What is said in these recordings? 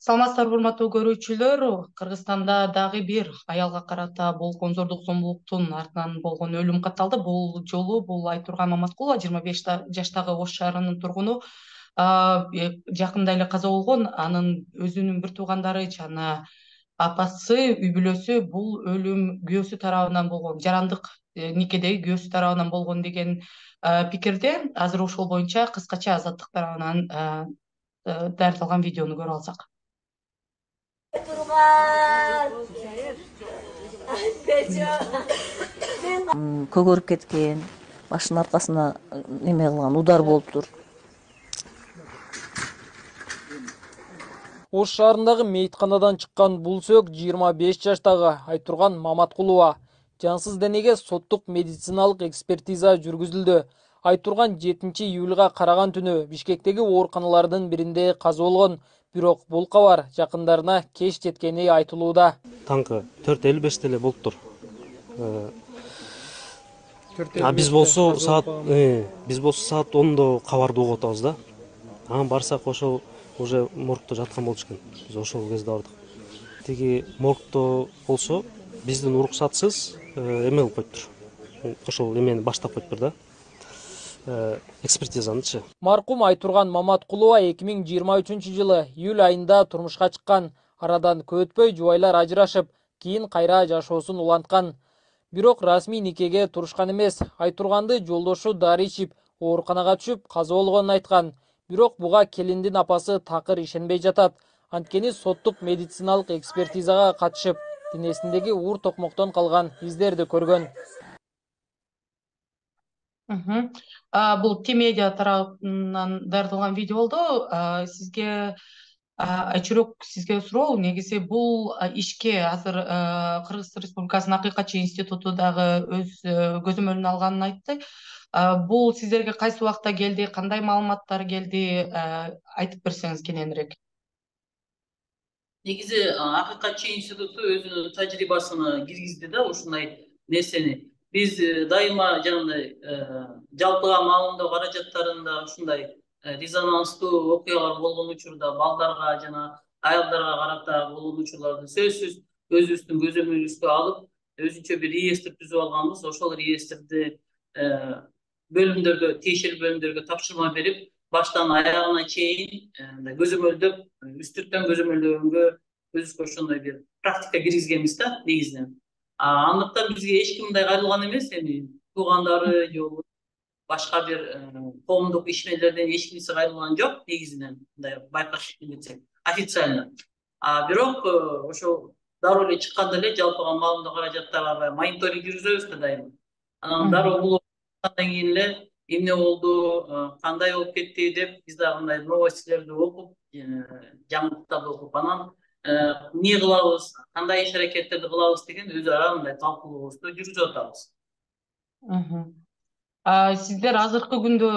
Саламатсыздарбы урматтуу көрүүчүлөр, Кыргызстанда дагы бир аялга карата болгон зордук зомбулуктун артынан болгон өлүм катталды. Бул жолу Айтурган Маматкулова 25 жаштагы Ош шаарынын тургуну жакында эле каза болгон. Анын өзүнүн бир туугандары жана апасы, үй бүлөсү бул өлүм күйөөсү тарабынан болгон, жарандык никедеги күйөөсү тарабынан болгон деген пикирде. Азыр ошол боюнча кыскача Азаттык тарабынан даярдалган видеону көрүп алсак. Көгөрүп кеткен, башынын аркасына неме кылган, удар болуптур. Ош шаарындагы мейитканадан чыккан бул сөк 25 жаштагы Айтурган Маматкулова. Жансыз денеге соттук медициналык экспертиза жүргүзүлдү. Айтурган 7-июлга караган түнү Бишкектеги ооруканалардын биринде каза болгон. Бирок бул кабар жакындарына кеч жеткени айтылууда. Таңкы 4:55 эле болуптур. Биз болсо саат 10:00 кабарды угуп атабыз да. Анан барсак ошол уже моргто жаткан болчу экен. Биз ошол кезде бардык. Тиги моргто болсо биздин уруксатсыз эме кылып коюптур. Ошол эмени баштап коюптур да. Экспертизанычы. Маркум Айтурган Маматкулова 2023-жылы июль айында турмушка чыккан. Арадан көп өтпөй жубайлар ажырашып, кийин кайра жашоосун уланткан. Бирок расмий никеге турушкан эмес. Айтурганды жолдошу дары ичип, ооруканага түшүп, каза болгонун айткан. Бирок буга келиндин апасы такыр ишенбей жатат. Анткени соттук медициналык экспертизага катышып, денесиндеги уур токмоктон калган издерди көргөн. Бул T-Media тарабынан даярдалган видео болду. Сизге айчүрөк сизге суроо, негизи бул ишке азыр Кыргыз Республикасынын Акыйкатчы институту дагы өз көзөмөлүнө алганын айтты. Бул сиздерге кайсы убакта келди, кандай маалыматтар келди, айтып берсеңиз кененирээк. Негизи Акыйкатчы институту өзүнүн тажрыйбасына киргизди да ушундай нерсени. Биз дайыма жанагындай жалпыга маалымдоо каражаттарында ушундай резонанстуу окуялар болгон учурда балдарга жана аялдарга карата болгон учурларды сөзсүз өзүбүздүн көзөмөлүбүзгө алып, өзүнчө бир реестр түзүп алганбыз. Ошол реестрди бөлүмдөргө, тиешелүү бөлүмдөргө тапшырма берип, баштан аягына чейин көзөмөлдөп, үстүрттөн көзөмөлдөгөнгө өзүбүзгө ошондой бир практика киргизгенбиз да негизинен. Андыктан бизге эч ким мындай кайрылган эмес, эми туугандары же башка бир коомдук ишмерлерден эч кимиси кайрылган жок негизинен, мындай байкаш кетсек официально. Бирок ошол дароо эле чыкканда эле жалпыга маалымдоо каражаттарга мониторинг жүргүзөбүз да дайыма. Анан дароо бул андан кийин эле эмне болду, кандай болуп кетти деп биз дагы мындай новостилерди окуп, жаңылыктарды окуп, анан эмне кылабыз, кандай иш аракеттерди кылабыз деген өз ара мындай талкуулообузду жүргүзүп атабыз. Сиздер азыркы күндө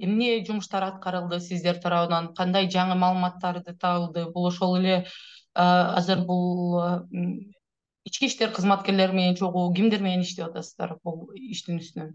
эмне жумуштар аткарылды сиздер тарабынан, кандай жаңы маалыматтарды табылды? Бул ошол эле азыр бул ички иштер кызматкерлери менен чогуу кимдер менен иштеп атасыздар бул иштин үстүнөн?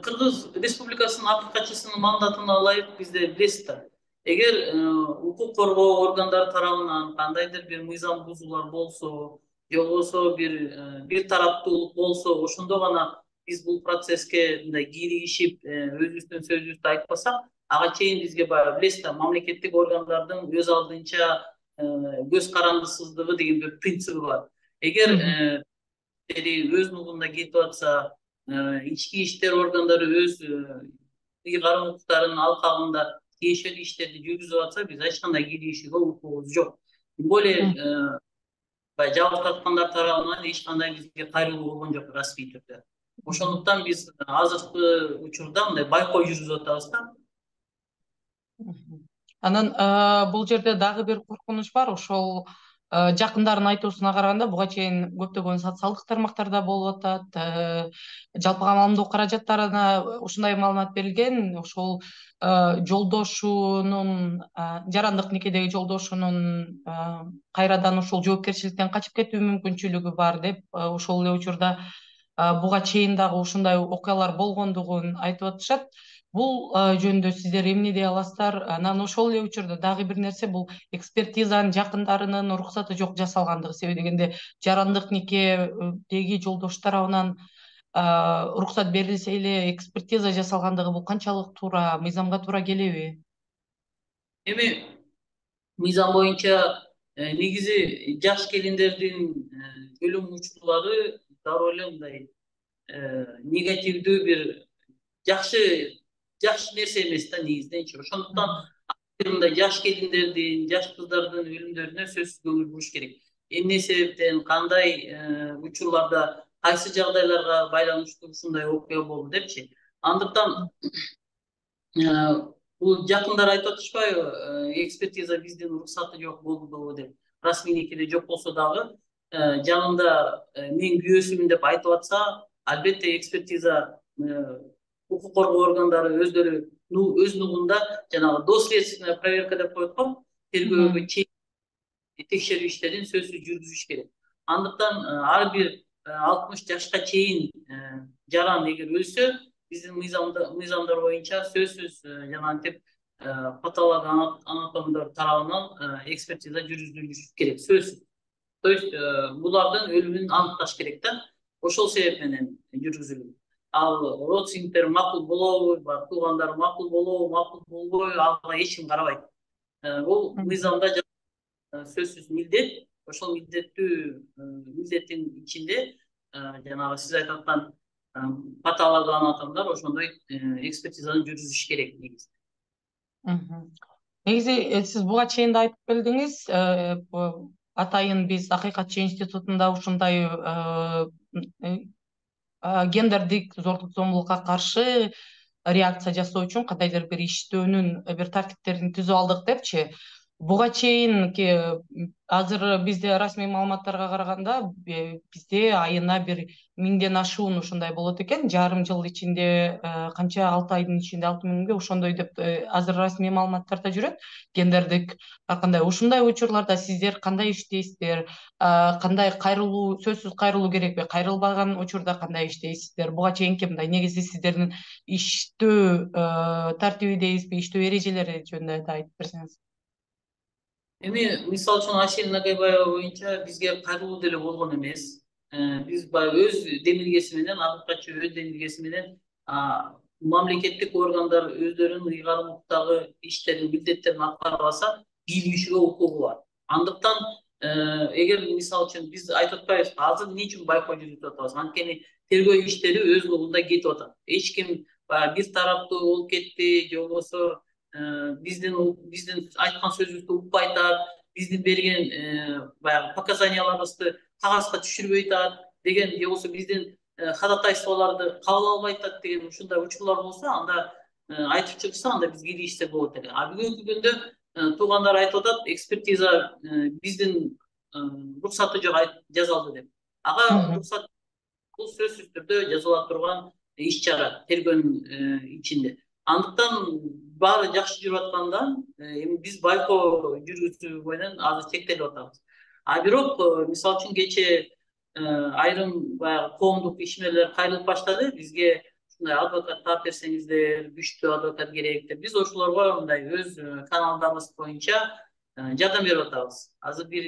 Кыргыз Республикасынын Акыйкатчысынын мандатына ылайык бизде билесиз да. Эгер укук коргоо органдары тарабынан кандайдыр бир мыйзам бузуулар болсо, же болбосо бир тараптуулук болсо, ошондо гана биз бул процесске мындай киригишип, өзүбүздүн сөзүбүздү айтпасак, ага чейин бизге баягы билесиз да, мамлекеттик органдардын өз алдынча көз карандысыздыгы деген бир принциби бар. Эгер өз нугунда кетип атса, ички иштер органдары өз ыйгарым укуктарынын алкагында тиешелүү иштерди жүргүзүп атса, биз эч кандай киригишүүгө укугубуз жок. Тем более жабык тарткандар тарабынан эч кандай бизге кайрылуу болгон жок расмий түрдө. Ошондуктан биз азыркы учурда мындай байкоо жүргүзүп атабыз да. Анан бул жерде дагы бир коркунуч бар. Ошол жакындардын айтуусуна караганда буга чейин көптөгөн социалдык тармактарда болуп атат. Жалпыга маалымдоо каражаттарына ушундай маалымат берилген. Ошол жолдошунун, жарандык никедеги жолдошунун кайрадан ушул жоопкерчиликтен качып кетүү мүмкүнчүлүгү бар деп, ошол эле учурда буга чейин дагы ушундай окуялар болгондугун айтып атышат. Бул жөнүндө сиздер эмне дей аласыздар? Анан ошол эле учурда дагы бир нерсе, бул экспертизанын жакындарынын уруксаты жок жасалгандыгы. Себеби дегенде жарандык никедеги жолдош тарабынан уруксат берилсе эле экспертиза жасалгандыгы бул канчалык туура, мыйзамга туура келеби? Эми мыйзам боюнча негизи жаш келиндердин өлүм учурлары дароо эле мындай негативдүү бир жакшы нерсе эмес да негизиненчи. Ошондуктан мындай жаш келиндердин, жаш кыздардын өлүмдөрүнө сөзсүз көңүл буруш керек. Эмне себептен, кандай учурларда, кайсы жагдайларга байланыштуу ушундай окуя болду депчи. Андыктан бул жакындар айтып атышпайбы, экспертиза биздин уруксаты жок болду деп. Расмий никеде жок болсо дагы жанында мен күйөөсүмүн деп айтып атса, албетте экспертиза укук коргоо органдары өздөрү өз нугунда жанагы доследственная проверка деп коет го, тергөөгө чейин текшерүү иштерин сөзсүз жүргүзүш керек. Андыктан ар бир 60 жашка чейин жаран эгер өлсө, биздин мыйзамдар боюнча сөзсүз жанагынтип патологоанатомдор тарабынан экспертиза жүргүзүлүш керек, сөзсүз. То есть булардын өлүмүн аныкташ керек да. Ошол себеп менен жүргүзүлөт. Ал родственниктер макул болобу, туугандар макул болобу, макул болбойбу, ага эч ким карабайт. Бул мыйзамда сөзсүз милдет. Ошол милдеттин ичинде жанагы сиз айтып аткан патологоанатомдор ошондой экспертизаны жүргүзүш керек негизи. Негизи сиз буга чейин да айтып келдиңиз, атайын биз Акыйкатчы институтунда ушундай гендердик зордук зомбулукка каршы реакция жасоо үчүн кандайдыр бир иштөөнүн бир тартиптерин түзүп алдык депчи. Буга чейинки азыр бизде расмий маалыматтарга караганда бизде айына бир 1000ден ашуун ушундай болот экен. Жарым жыл ичинде канча 6 айдын ичинде 6000ге ошондой деп азыр расмий маалыматтарда жүрөт. Гендердик ар кандай ушундай учурларда сиздер кандай иштейсиздер? Кандай кайрылуу, сөзсүз кайрылуу керекпи? Кайрылбаган учурда кандай иштейсиздер? Буга чейинки мындай негизи сиздердин иштөө тартиби дейбизби, иштөө эрежелери жөнүндө да айтып берсеңиз. Эми мисалы үчүн Айсел Нагайбаева боюнча бизге кайрылуу деле болгон эмес. Биз баягы өз демилгеси менен, Акыйкатчы өз демилгеси менен мамлекеттик органдар өздөрүнүн ыйгарым укуктагы иштерин, милдеттерин аткара алса, бийлүүчүгө укугу бар. Андыктан эгер мисалы үчүн биз айтып атпайбызбы, азыр эмне үчүн байкоо жүргүзүп атабыз? Анткени тергөө иштери өз нугунда кетип атат. Эч ким бир тараптуу болуп кетти, же болбосо биздин айткан сөзүбүздү укпай атат, биздин берген баягы показанияларыбызды кагазга түшүрбөй атат деген, же болбосо биздин ходатайстволорду кабыл албай атат деген ушундай учурлар болсо, анда айтып чыгышса, анда бизге киришсе болот эле. Бүгүнкү күндө туугандар айтып атат, экспертиза биздин уруксаты жок жазалды деп. Ага уруксат бул сөзсүз түрдө жазыла турган иш чара тергөөнүн ичинде. Андыктан баары жакшы жүрүп аткандан эми биз байкоо жүргүзүү менен азыр чектелип атабыз. Бирок мисалы үчүн кечээ айрым баягы коомдук ишмерлер кайрылып баштады. Бизге ушундай адвокат таап берсеңиздер, күчтүү адвокат керек деп. Биз ошолорго мындай өз каналдарыбыз боюнча жардам берип атабыз. Азыр бир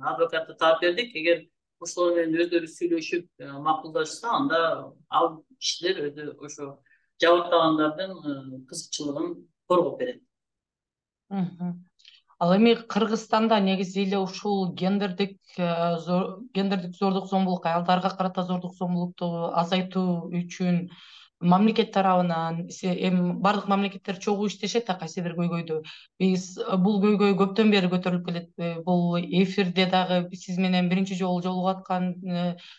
адвокатты таап бердик. Эгер ошолор менен өздөрү сүйлөшүп макулдашса, анда ал кишилер өзү ошо жабыркагандардын кызыкчылыгын коргоп берет. Ал эми Кыргызстанда негизи эле ушул гендердик зордук зомбулук, аялдарга карата зордук зомбулукту азайтуу үчүн мамлекет тарабынан эми бардык мамлекеттер чогуу иштешет да, кайсы бир көйгөйдө. Биз бул көйгөй көптөн бери көтөрүлүп келет. Бул эфирде дагы сиз менен биринчи жолу жолугуп аткан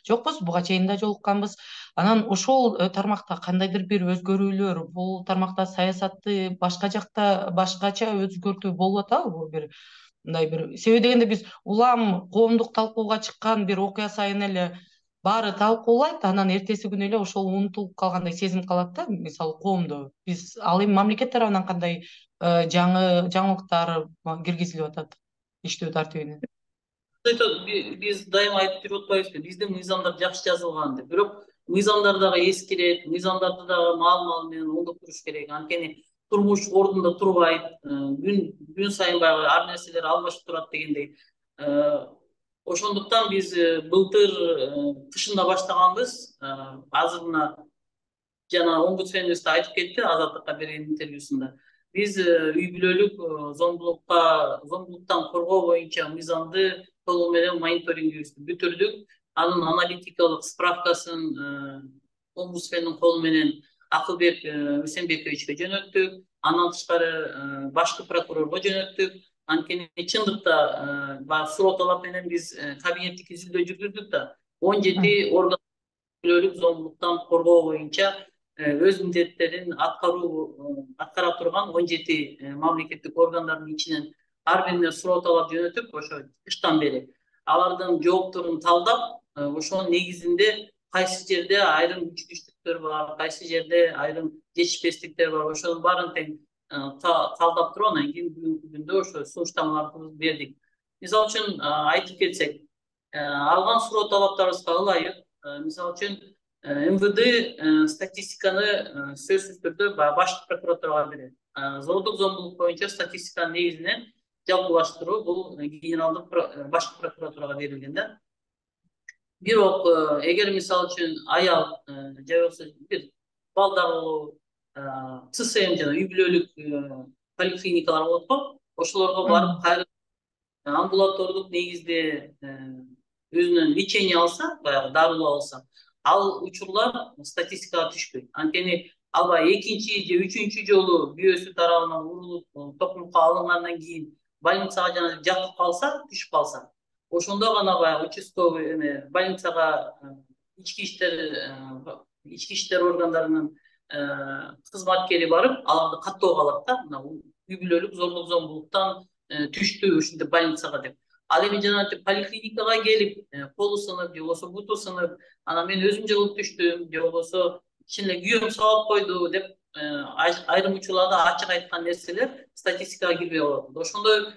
жокпуз, буга чейин да жолукканбыз. Анан ошол тармакта кандайдыр бир өзгөрүүлөр, бул тармакта саясатты башка жакта башкача өзгөртүү болуп атабы? Бир мындай бир себеби дегенде биз улам коомдук талкууга чыккан бир окуя сайын эле баары талкуулайт, анан эртеси күнү эле ошол унутулуп калгандай сезим калат да, мисалы коомдо. Биз ал эми мамлекет тарабынан кандай жаңылыктар киргизилип атат иштөө тартибине? Биз дайыма айтып жүрүп атпайбызбы, биздин мыйзамдар жакшы жазылган деп. Бирок мыйзамдар дагы эскирет, мыйзамдарды дагы маал менен оңдоп керек. Анткени турмуш ордунда турбайт, күн сайын баягы ар нерселер алмашып турат дегендей. Ошондуктан биз былтыр кышында баштаганбыз. Азыр мына жана омбудсменибиз да айтып кетти Азаттыкка берген интервьюсунда. Биз үй бүлөлүк зомбулуктан коргоо боюнча мыйзамды толугу менен мониторингибизди бүтүрдүк. Анын аналитикалык справкасын омбудсмендин колу менен Акылбек Үсенбековичке жөнөттүк. Андан тышкары башкы прокурорго жөнөттүк. Анткени чындыкта баягы суроо талап менен биз кабинеттик изилдөө жүргүздүк да 17 орган бүлөлүк зомбулуктан коргоо боюнча өз милдеттерин аткара турган 17 мамлекеттик органдардын ичинен ар бирине суроо талап жөнөтүп, ошо кыштан бери алардын жоопторун талдап, ошонун негизинде кайсы жерде айрым күчтүүчүлүктөр бар, кайсы жерде айрым жетишпестиктер бар, ошонун баарын тең талдап туруп, анан кийин бүгүнкү күндө ошо сунуштамаларды бердик. Мисалы үчүн айтып кетсек, алган суроо талаптарыбызга ылайык. Мисалы үчүн МВД статистиканы сөзсүз түрдө башкы прокуратурага берет. Зордук зомбулук боюнча статистиканын негизинен жалпылаштыруу бул генералдык башкы прокуратурага берилген да. Бирок эгер мисалы үчүн аял же болбосо бир балдар болобу, ЦСМ жана үй бүлөлүк поликлиникалар болот го, ошолорго барып кайра амбулатордук негизде өзүнөн лечение алса, баягы дарылоо алса, ал учурлар статистикага түшпөйт. Анткени албай экинчи же үчүнчү жолу бүйөсү тарабынан урулуп токмукка алынгандан кийин больницага жана жатып калса, түшүп калса, ошондо гана баягы участковый больницага ички иштер органдарынын кызматкери барып, аларды каттоого алат да, мына үй бүлөлүк зордук зомбулуктан түштү ушинтип больницага деп. Ал эми жана поликлиникага келип, колу сынып, же болбосо буту сынып, анан мен өзүм жыгылып түштүм, же болбосо чын эле күйөөм сабап койду деп айрым учурларда ачык айткан нерселер статистикага кирбей калат. Ошондой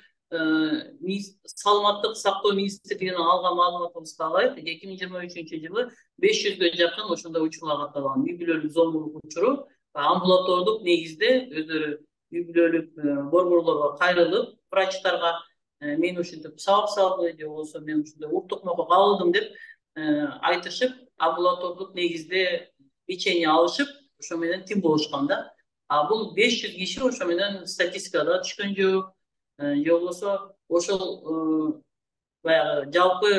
саламаттык сактоо министрлигинен алган маалыматыбызга ылайык 2023 жылы 500гө жакын ошондой учурлар катталган. Үй бүлөлүк зомбулук учуру амбулатордук негизде өздөрү үй бүлөлүк борборлорго кайрылып, врачтарга мен ушинтип сабап салды, же болбосо мен ушундай уктукмого кабылдым деп айтышып, амбулатордук негизде лечение алышып, ошо менен тим болушкан да. Бул 500 киши ошо менен статистикада түшкөн жок, же болбосо ошол баягы жалпы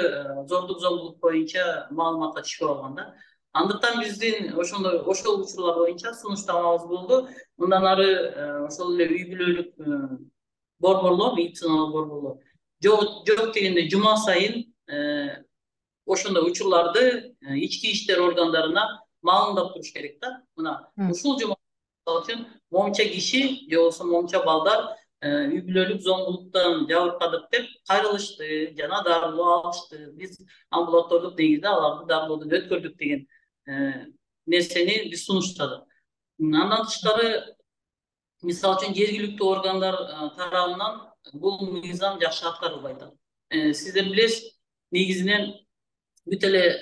зордук зомбулук боюнча маалыматка түшпөй калган да. Андыктан биздин ошол учурлар боюнча сунуштамабыз болду. Мындан ары ошол эле үй бүлөлүк борборлор, медициналык борборлор жок дегенде жума сайын ошондой учурларды ички иштер органдарына маалымдап туруш керек да. Мына ушул жума үчүн момча киши же болбосо момча балдар үй бүлөлүк зомбулуктан жабыркадык деп кайрылышты жана дарылоо алышты. Биз амбулатордук негизде аларды дарылоодон өткөрдүк деген нерсени биз сунуштадык. Андан тышкары, мисалы үчүн жергиликтүү органдар тарабынан бул мыйзам жакшы аткарылбай атат. Сиздер билесиз, негизинен бүт эле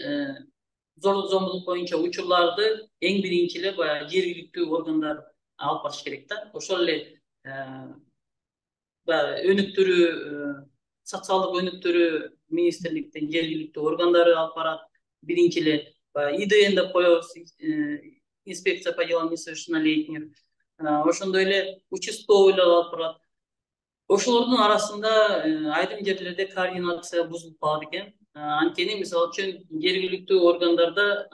зордук зомбулук боюнча учурларды эң биринчи эле баягы жергиликтүү органдар алып барыш керек да. Ошол эле өнүктүрүү, социалдык өнүктүрүү министрликтин жергиликтүү органдары алып барат. Биринчи эле ИДН деп коебуз, инспекция по делам несовершеннолетних. Ошондой эле участковыйлар алып барат. Ошолордун арасында айрым жерлерде координация бузулуп калат экен. Анткени мисалы үчүн жергиликтүү органдарда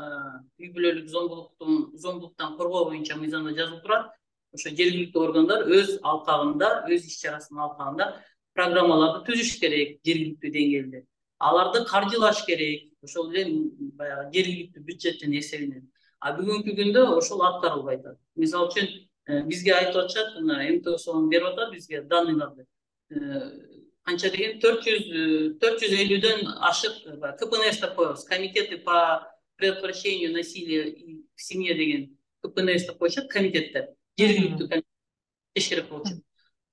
үй бүлөлүк зомбулуктан коргоо боюнча мыйзамда жазылып турат. Ошо жергиликтүү органдар өз алкагында, өз иш чарасынын алкагында программаларды түзүш керек жергиликтүү деңгээлде. Аларды каржылаш керек, ошол эле баягы жергиликтүү бюджеттин эсебинен. Бүгүнкү күндө ошол аткарылбай атат. Мисалы үчүн бизге айтып атышат, мына МТСО берип атат бизге данныйларды. Канча деген 450дөн ашык КПНС деп коебуз. Комитеты по предотвращению насилия в семье деген КПНС деп коюшат, комитеттер. Жергиликтүү комитет керек болчу.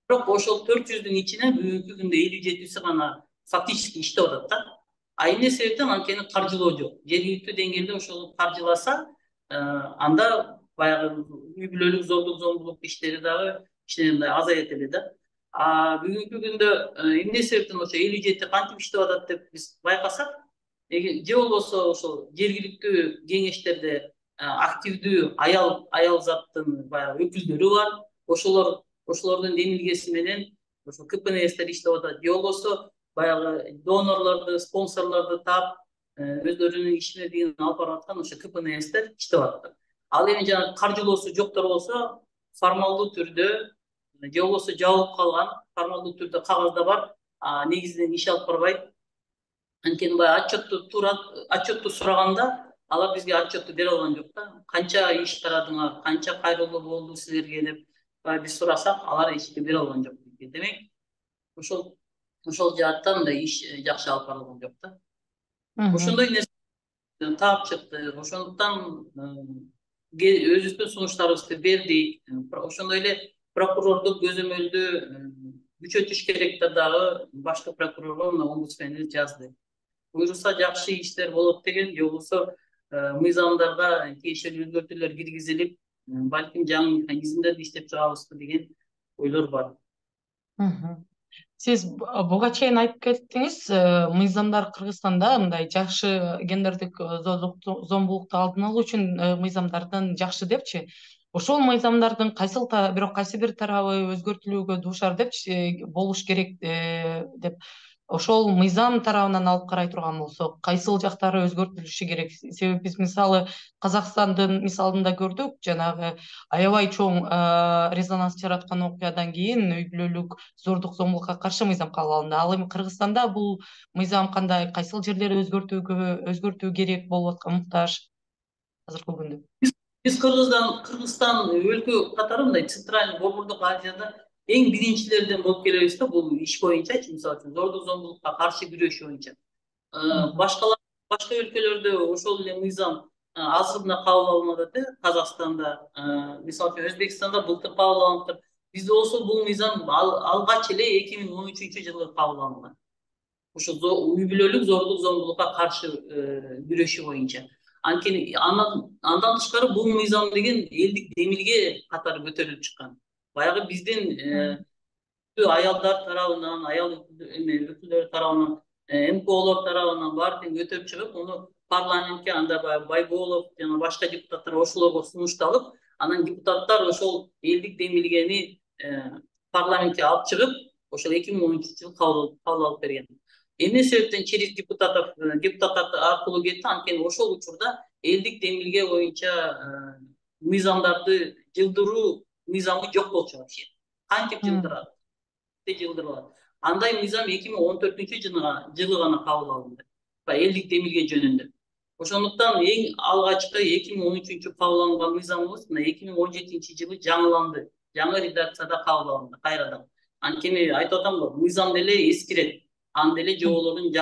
Бирок ошол 400дүн ичинен бүгүнкү күндө 57си гана фактически иштеп атат да. Эмне себептен анткени каржылоо жок. Жергиликтүү деңгээлде ошол каржыласа, анда баягы үй бүлөлүк зордук зомбулук иштери дагы кичине мындай азаят эле да. Бүгүнкү күндө эмне себептен ошо эл бюджети кантип иштеп атат деп биз байкасак, же болбосо ошол жергиликтүү кеңештерде активдүү аял заттын баягы өкүлдөрү бар. Ошолордун демилгеси менен ошо КПНСтер иштеп атат. Же болбосо баягы донорлорду, спонсорлорду таап, өздөрүнүн ишмердигин алып барып аткан ошо КПНСтер иштеп атат. Ал эми жана каржылоосу жоктор болсо, формалдуу түрдө же болбосо жабылып калган, формалдуу түрдө кагазда бар, негизинен иш алып барбайт. Анткени баягы отчетту сураганда алар бизге отчетту бере алган жок да. Канча иш тарадыңар, канча кайрылуу болду силерге деп биз сурасак, алар эчке бере алган жок. Демек, ошол жааттан мындай иш жакшы алып барылган жок да. Ошондой нерсе таап чыкты. Ошондуктан өзүбүздүн сунуштарыбызды бердик. Ошондой эле прокурордук көзөмөлдү күчөтүш керек дагы башкы прокурорго омбудсменибиз жазды. Буюрса жакшы иштер болот деген, же болбосо мыйзамдарга тиешелүү өзгөртүүлөр киргизилип, балким жаңы механизмдерди иштеп чыгабызбы деген ойлор бар. Сиз буга чейин айтып кеттиңиз, мыйзамдар Кыргызстанда мындай жакшы гендердик зомбулукту алдын алуу үчүн мыйзамдардын жакшы депчи. Ошол мыйзамдардын бирок кайсы бир тарабы өзгөртүлүүгө дуушар депчи, болуш керек деп. Ошол мыйзам тарабынан алып карай турган болсок, кайсыл жактары өзгөртүлүшү керек? Себеби биз мисалы Казакстандын мисалында көрдүк, жанагы аябай чоң резонанс жараткан окуядан кийин үй бүлөлүк зордук зомбулукка каршы мыйзам кабыл алынды. Ал эми Кыргызстанда бул мыйзам кандай, кайсыл жерлери өзгөртүү керек болуп аткан муктаж азыркы күндө? Биз Кыргызстан өлкө катары мындай Центральный Борбордук Азияда эң биринчилерден болуп келебиз да, бул иш боюнча, мисалы үчүн зордук зомбулукка каршы күрөш боюнча. Башка өлкөлөрдө ошол эле мыйзам азыр гана кабыл алынып атат, Казакстанда, мисалы үчүн Өзбекстанда былтыр кабыл алынып. Бизде болсо бул мыйзам алгач эле 2013-жылы кабыл алынган. Ошо үй бүлөлүк зордук зомбулукка каршы күрөшү боюнча. Анткени андан тышкары бул мыйзам деген элдик демилге катары көтөрүлүп чыккан. Баягы биздин аялдар тарабынан, аял өкүлдөрү тарабынан, МКОлор тарабынан баары көтөрүп чыгып, муну парламентке анда Байболов жана башка депутаттар ошолорго сунушталып, анан депутаттар ошол элдик демилгени парламентке алып чыгып, ошол 2013-жылы кабыл алып берген. Эмне себептен через депутаттар аркылуу кетти? Анткени ошол учурда элдик демилге боюнча мыйзамдарды жылдыруу мыйзамы жок болчу вообще. Кантип жылдырат? Жылдырылат. Андай мыйзам 2014-жылы гана кабыл алынды. Элдик демилге жөнүндө. Ошондуктан эң алгачкы 2013-жылы кабыл алынган мыйзамыбыз 2017-жылы жаңыланды. Жаңы редакцияда кабыл алынды кайрадан. Анткени айтып атам го, мыйзам деле эскирет. Анда эле жоболордун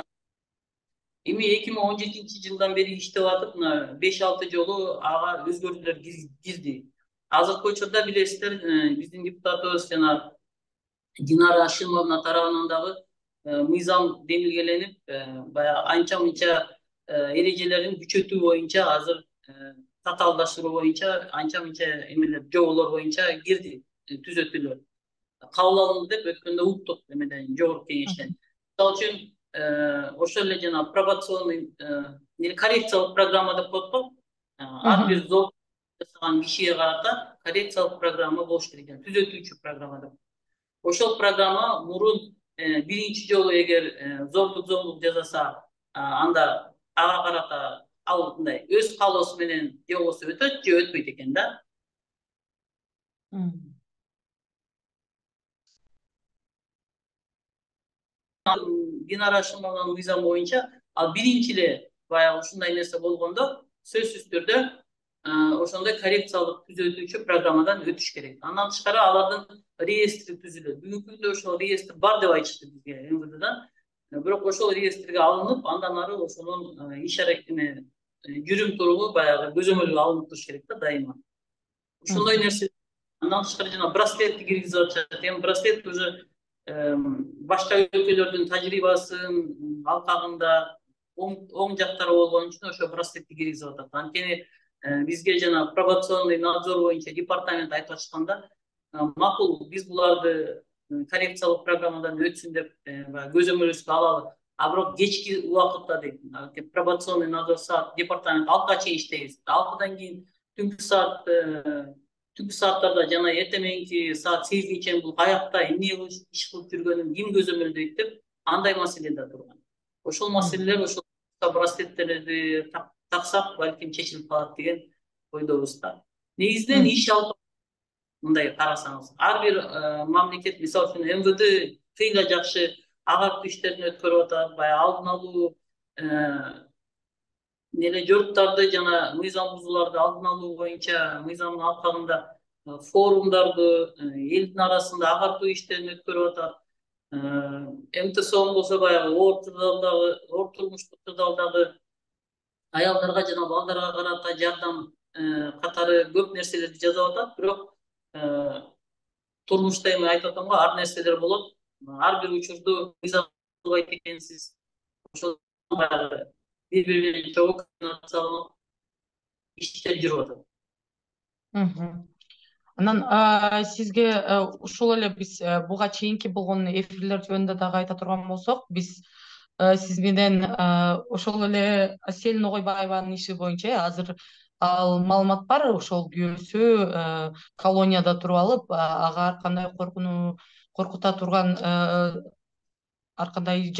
эми 2017-жылдан бери иштеп атып, 5-6 жолу ага өзгөртүүлөр кирди. Азыркы учурда билесиздер, биздин депутатыбыз жана Динара Ашимовна тарабынан дагы мыйзам демилгеленип, баягы анча-мынча эрежелерин күчөтүү боюнча, азыр татаалдаштыруу боюнча анча-мынча эмелер, жоболор боюнча кирди, түзөтүүлөр. Кабыл алынды деп өткөндө уктук эмеден, жогорку кеңештен. Мисалы үчүн ошол эле жана пробационный коррекциялык программа деп коет го. Ар бир зор жасаган кишиге карата коррекциялык программа болуш керек, түзөтүүчү программа деп. Ошол программа мурун биринчи жолу эгер зордук зомбулук жасаса, анда ага карата ал мындай өз каалоосу менен же болбосо өтөт, же өтпөйт экен да. Динара Ашимованын мыйзамы боюнча, ал биринчи эле баягы ушундай нерсе болгондо сөзсүз түрдө ошондой коррекциялык түзөтүүчү программадан өтүш керек. Андан тышкары алардын реестри түзүлөт. Бүгүнкү күндө ошол реестр бар деп айтышты бизге МВДдан. Бирок ошол реестрге алынып, андан ары ошонун иш аракетине жүрүм туругу баягы көзөмөлгө алынып туруш керек да дайыма. Ошондой нерсе. Андан тышкары жана браслетти киргизип атышат. Эми браслет уже башка өлкөлөрдүн тажрыйбасын алкагында оң жактары болгон үчүн ошо браслетти киргизип атат. Анткени бизге жана пробационный надзор боюнча департамент айтып атышканда, макул биз буларды коррекциялык программадан өтсүн деп көзөмөлүбүзгө алалы. А бирок кечки убакытта дейт, пробационный надзор саат департамент 6га чейин иштейбиз. 6дан кийин түнкү сааттарда жана эртең саат 8ге чейин бул каякта эмне иш кылып жүргөнүн ким көзөмөлдөйт деп андай маселе да турган. Ошол маселелер ошол браслеттерди таксак балким чечилип калат деген ойдобуз да. Негизинен иш алып мындай карасаңыз, ар бир мамлекет, мисалы үчүн МВД кыйла жакшы агартуу иштерин өткөрүп атат, баягы алдын алуу жоруктарды жана мыйзам бузууларды алдын алуу боюнча мыйзамдын алкагында форумдарды, элдин арасында агартуу иштерин өткөрүп атат. МТСО болсо баягы оор турмуштук тырдалдагы аялдарга жана балдарга карата жардам катары көп нерселерди жазып атат. Бирок турмушта эми айтып атам го, ар нерселер болот. Ар бир учурду мыйзам кылбайт экенсиз. Ошол бири-бири чогуу координацияланып иштер жүрүп атат. Анан сизге ушул эле биз буга чейинки болгон эфирлер жөнүндө дагы айта турган болсок, биз сиз менен ошол эле Асель Ногойбаеванын иши боюнча азыр ал маалымат бар, ошол күйөөсү колонияда туруп алып, ага ар кандай коркута турган ар кандай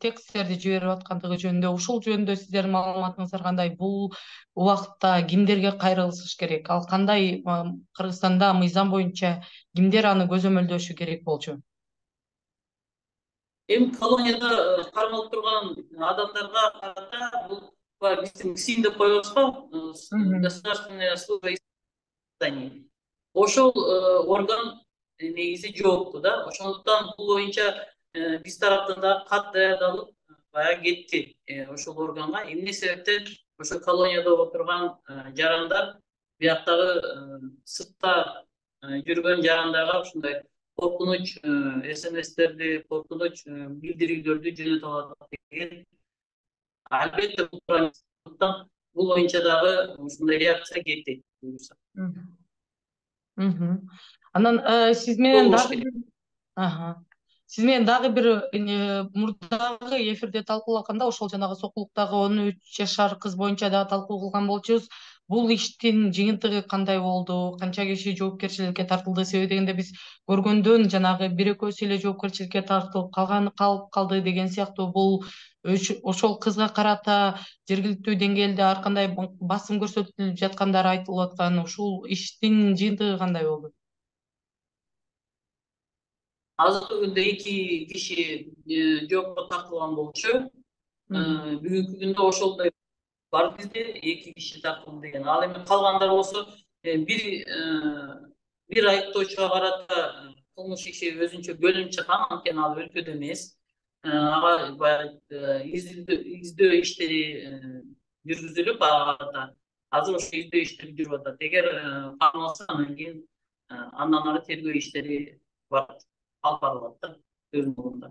тексттерди жиберип аткандыгы жөнүндө, ушул жөнүндө сиздердин маалыматыңыздар кандай? Бул убакытта кимдерге кайрылыш керек? Ал кандай Кыргызстанда мыйзам боюнча кимдер аны көзөмөлдөшү керек болчу? Эми колонияда кармалып турган адамдарга карата бул биздин КСИМ деп коебуз го, государственная служба исполнения. Ошол орган негизи жоопту да. Ошондуктан бул боюнча биз тараптан да кат даярдалып баягы кетти ошол органга. Эмне себептен ошо колонияда отурган жарандар бияктагы сыртта жүргөн жарандарга ушундай коркунуч СМСтерди, коркунуч билдирүүлөрдү жөнөтүп атат деген. Албетте бул боюнча дагы ушундай реакция кетти. Анан сиз менен дагы бир мурдагы эфирде талкуулаганда, ошол жанагы Сокулуктагы 13 жашар кыз боюнча дагы талкуу кылган болчубуз. Бул иштин жыйынтыгы кандай болду? Канча киши жоопкерчиликке тартылды? Себеби дегенде биз көргөндөн жанагы бир экөөсү эле жоопкерчиликке тартылып калганы калып калды деген сыяктуу, бул ошол кызга карата жергиликтүү деңгээлде ар кандай басым көрсөтүлүп жаткандары айтылып аткан. Ушул иштин жыйынтыгы кандай болду? Азыркы күндө 2 киши жоопко тартылган болчу. Бүгүнкү күндө ошолдой бар бизде 2 киши тартылды деген. Ал эми калгандар болсо бир айыптоочуга карата кылмыш иши өзүнчө бөлүнүп чыккан, анткени ал өлкөдө эмес. Ага баягы издөө иштери жүргүзүлүп, ага азыр ошо издөө иштери жүрүп атат. Эгер камалса, андан кийин андан ары тергөө иштери алып барылат да өзүнүн ордунда.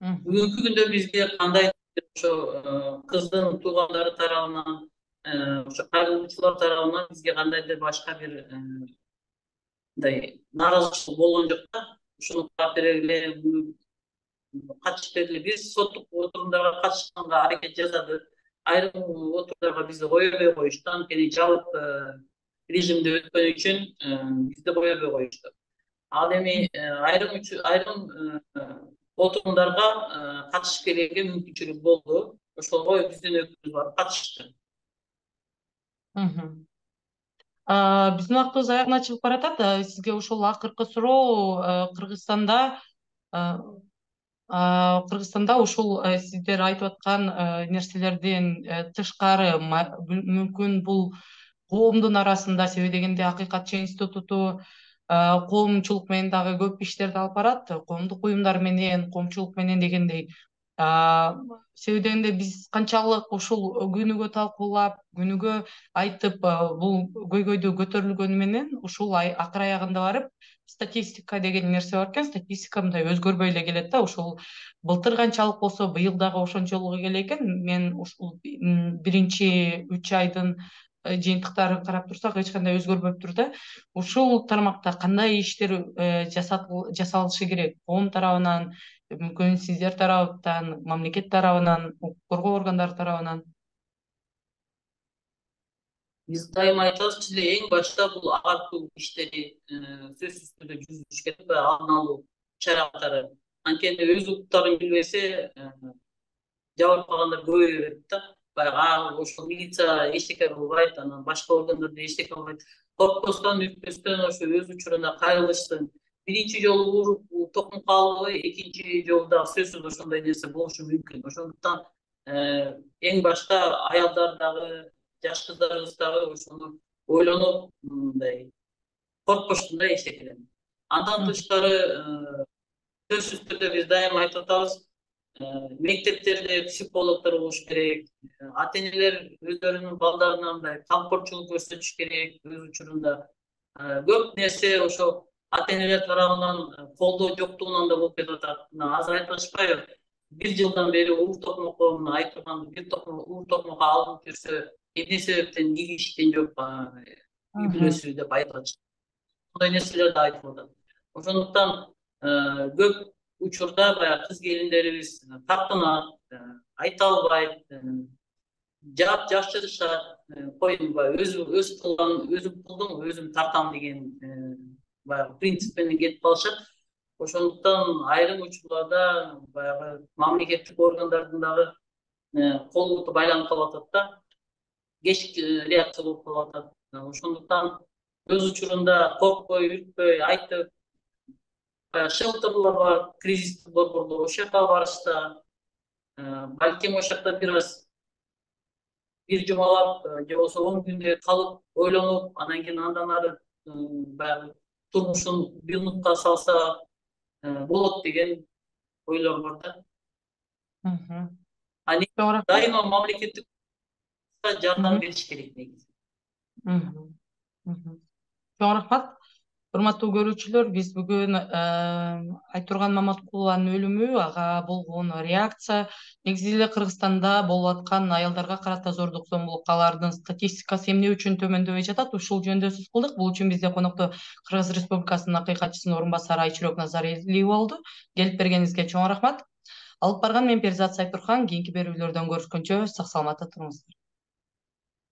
Бүгүнкү күндө бизге кандай ошо кыздын туугандары тарабынан, ошо кайрылуучулар тарабынан бизге кандайдыр башка бир мындай нааразычылык болгон жок да. Ушуну каап бергиле, катышып бергиле. Биз соттук отурумдарга катышканга аракет жасадык. Айрым отурумдарга бизди койбой коюшту, анткени жабык режимде өткөн үчүн бизди койбой коюшту. Ал эми айрым отурумдарга катышып келүүгө мүмкүнчүлүк болду. Ошого биздин өкүлүбүз барып катышты. Биздин убактыбыз аягына чыгып баратат. Сизге ушул акыркы суроо, Кыргызстанда ушул сиздер айтып аткан нерселерден тышкары мүмкүн бул коомдун арасында, себеби дегенде Акыйкатчы институту коомчулук менен дагы көп иштерди алып барат, коомдук уюмдар менен, коомчулук менен дегендей. Себеби дегенде биз канчалык ушул күнүгө талкуулап, күнүгө айтып, бул көйгөйдү көтөрүлгөнү менен ушул акыр аягында барып статистика деген нерсе бар экен. Статистика мындай өзгөрбөй эле келет да. Ушул былтыр канчалык болсо, быйыл дагы ошончолугу келе экен. Мен ушул биринчи 3 айдын жыйынтыктарын карап турсак, эч кандай өзгөрбөптүр да. Ушул тармакта кандай иштер жасалышы керек? Коом тарабынан, мүмкүн сиздер тарабынан, мамлекет тарабынан, укук коргоо органдары тарабынан? Биз дайыма айтабыз эле, эң башта бул агартуу иштери сөзсүз түрдө жүрүш керек, алдын алуу чаралары. Анткени өз укуктарын билбесе, жабырып калгандар көбөйө берет да. Баягы ошол милиция эчтеке кылбайт, анан башка органдар эчтеке кылбайт. Коркпостон, үркпөстөн ошо өз учурунда кайрылыштын. Биринчи жолу уруп токум калбай, экинчи жолу да сөзсүз ошондой нерсе болушу мүмкүн. Ошондуктан эң башта аялдар дагы, жаш кыздарыбыз дагы ошону ойлонуп, мындай коркпоштун да эчтекеден. Андан тышкары сөзсүз түрдө биз дайыма айтып атабыз, мектептерде психологдор болуш керек, ата-энелер өздөрүнүн балдарына мындай камкорчулук көрсөтүш керек өз учурунда. Көп нерсе ошо ата-энелер тарабынан колдоо жоктугунан да болуп кетип атат. Азыр айтышпайбы? Бир жылдан бери уур токмокко айтылган бир уур токмокко алынып жүрсө, эмне себептен кийишкен жок, үй бүлөсү деп айтып атышат. Мындай нерселер да айтылып атат. Ошондуктан көп учурда баягы кыз келиндерибиз тартынат, айта албайт, жаап жашырышат, койбой өз кылган өзүм кылдым, өзүм тартам деген баягы принцип менен кетип калышат. Ошондуктан айрым учурларда баягы мамлекеттик органдардын дагы кол буту байланып калып атат да, кеч реакция болуп калып атат. Ошондуктан өз учурунда коркпой, үркпөй айтып, шелтерлер бар, кризистик борборлор, ошол жака барышса, балким ошол жакта бир жумалап, же болбосо 10 күндөй калып, ойлонуп, анан кийин андан ары баягы турмушун бюнутка салса болот деген ойлор бар да. Дайыма мамлекеттик жардам бериш керек негизи. Чоң рахмат. Урматтуу көрүүчүлөр, биз бүгүн Айтурган Маматкулованын өлүмү, ага болгон реакция, негизи эле Кыргызстанда болуп аткан аялдарга карата зордук зомбулук, алардын статистикасы эмне үчүн төмөндөбөй жатат, ушул жөнүндө сөз кылдык. Бул үчүн бизде конокто Кыргыз Республикасынын акыйкатчысынын орун басары Айчүрөк Назарилиева болду. Келип бергениңизге чоң рахмат. Алып барган мен Перизат Сайтурхан. Кийинки берүүлөрдөн көрүшкөнчө сак саламатта туруңуздар.